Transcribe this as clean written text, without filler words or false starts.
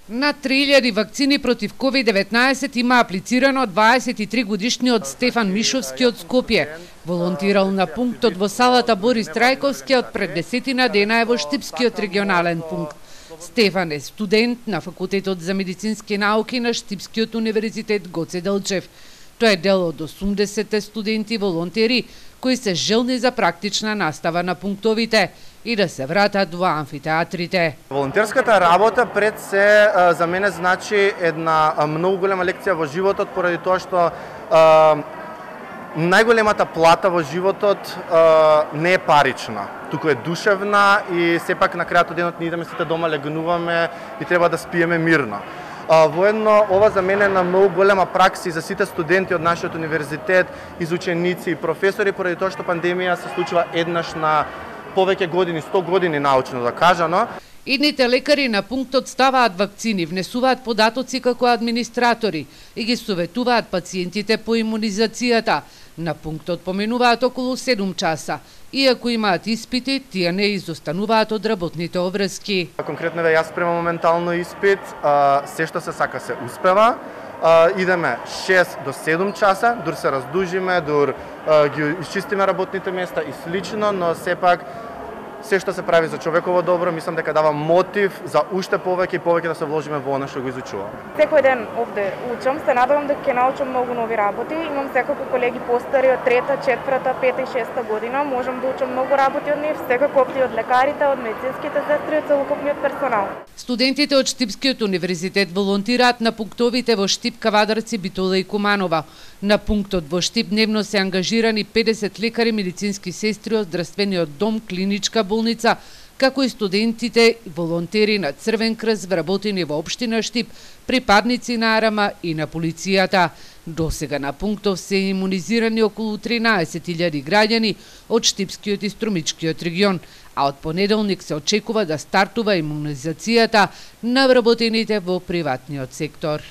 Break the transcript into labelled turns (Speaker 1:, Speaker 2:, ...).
Speaker 1: На 3000 вакцини против COVID-19 има аплицирано 23 годишниот Стефан Мишовски од Скопје. Волонтирал на пунктот во салата Борис Трајковски од пред 10 дена е во Штипскиот регионален пункт. Стефан е студент на Факултетот за медицински науки на Штипскиот универзитет Гоце Делчев. Тој е дел од 80 студенти волонтери кои се желни за практична настава на пунктовите и да се вратат во амфитеатрите.
Speaker 2: Волонтерската работа пред се за мене значи една многу голема лекција во животот, поради тоа што најголемата плата во животот не е парична, туку е душевна и сепак на крајот од денот ние идеме сите дома, легнуваме и треба да спиеме мирно. Воедно, ова за мене е на многу голема пракса и за сите студенти од нашиот универзитет, изученици и професори, поради тоа што пандемија се случува еднаш на повеќе години, 100 години научно да кажано.
Speaker 1: Идните лекари на пунктот ставаат вакцини, внесуваат податоци како администратори и ги советуваат пациентите по имунизацијата. На пунктот поминуваат околу 7 часа. Иако имаат испити, тие не изостануваат од работните обврски.
Speaker 2: Конкретно јас спремам моментално испит, се што се сака се успева. Идеме 6 до 7 часа, дур се раздужиме, дур ги исчистиме работните места и слично, но сепак се што се прави за човеково добро, мислам дека дава мотив за уште повеќе и повеќе да се вложиме во она што го изучуваме.
Speaker 3: Секој ден овде учам, се надевам дека ќе научам многу нови работи. Имам секако колеги постари од 3-та, 4-та, 5-та и 6-та година, можам да учам многу работи од нив, секако и од лекарите, од медицинските сестри, од целокупниот персонал.
Speaker 1: Студентите од Штипскиот универзитет волонтираат на пунктовите во Штип, Кавадарци, Битола и Куманова. На пунктот во Штип дневно се ангажирани 50 лекари, медицински сестри од здравствениот дом, клиничка болница, како и студентите волонтери на Црвен крст вработени во општина Штип, припадници на АРМА и на полицијата. Досега на пунктов се имунизирани околу 13.000 граѓани од Штипскиот и Струмичкиот регион, а од понеделник се очекува да стартува имунизацијата на вработените во приватниот сектор.